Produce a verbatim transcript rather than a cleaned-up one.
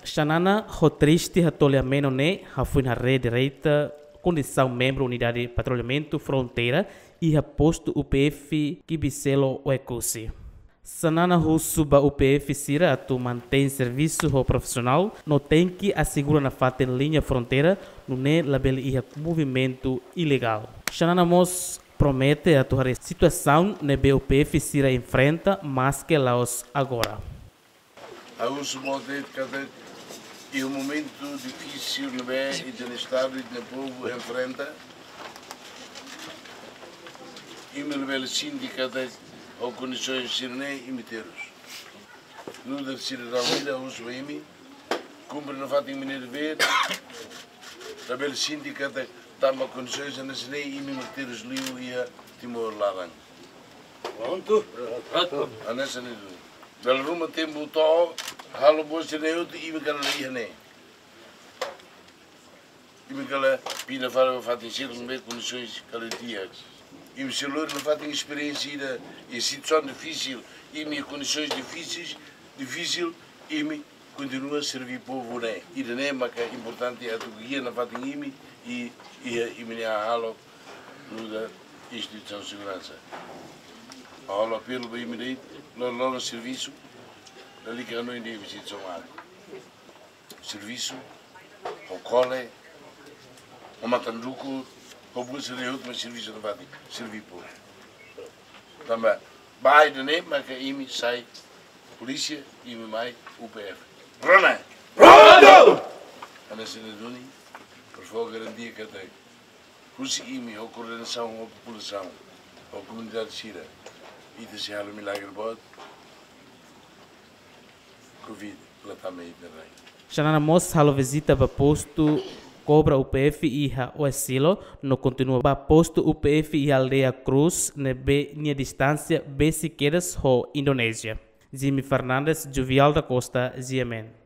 Xanana ho triste hato'o lia-menon ne'e hafoin haree direta kondisaun membru Unidade Patrullamentu Fronteira iha postu U P F Kibiselo Oekusi. Xanana husu ba U P F sira atu mantein servisu ho profisionál no tenke asegura nafatin liña fronteira nune'e labele iha movimentu ilegál. Xanana mós promete atu haree situasaun ne'ebé U P F sira enfrenta maske la'ós agora. Ha'u husu ba O T F katak iha momentu difisil ne'ebé ita-nia Estadu, ita-nia povu enfrenta, imi labele sente katak ho kondisoens sira-ne'e imi terus. Nu'udar sidadaun ida, husu ba imi, kumpre nafatin imi-nia devér, labele sente katak tanba kondisoens hanesan ne'e imi mak terus liu iha Timor laran. Prontu. Hanesan ne'e duni. Dala ruma tempu to'o, halo buat sira-ne'e hotu imi kala la iha ne'e. Imi kala pinda fali ba fatin seluk ne'ebé kondisoens kala di'ak. Imi sei lori nafatin esperiénsia ida iha situasaun difisil, imi kondisoens difisil, difisil, imi kontinua serví povu ne'e. Ida-ne'e maka importante atu gia nafatin imi i, iha imi-nia hahalok nu'udar instituisaun seguransa. Ha'u halo apelu ba imi de'it, loroloron servisu, lalika hanoin de'it ba instituisaun laran. Servisu, ho kole, ho matan-dukur, ho buat sira-ne'e hotu mak servisu nafatin, serví povu. Tanba ba ida-ne'e maka imi sai polísia, imi mai U P F. Rona! Prontu! Hanesan ne'e duni, por favór garantia katak husi imi ho koordenasaun ho populasaun, ho komunidade sira, ita sei halo milagre boot, Covid la tama iha ita-nia rai. Xanana mós halo vizita ba postu kobra U P F iha Oesilo, no kontinua ba postu U P F iha aldeia Cruz, ne'ebé nia distánsia besik kedas ho Indonézia. Jimmy Fernandes, Jovial da Costa, G M N.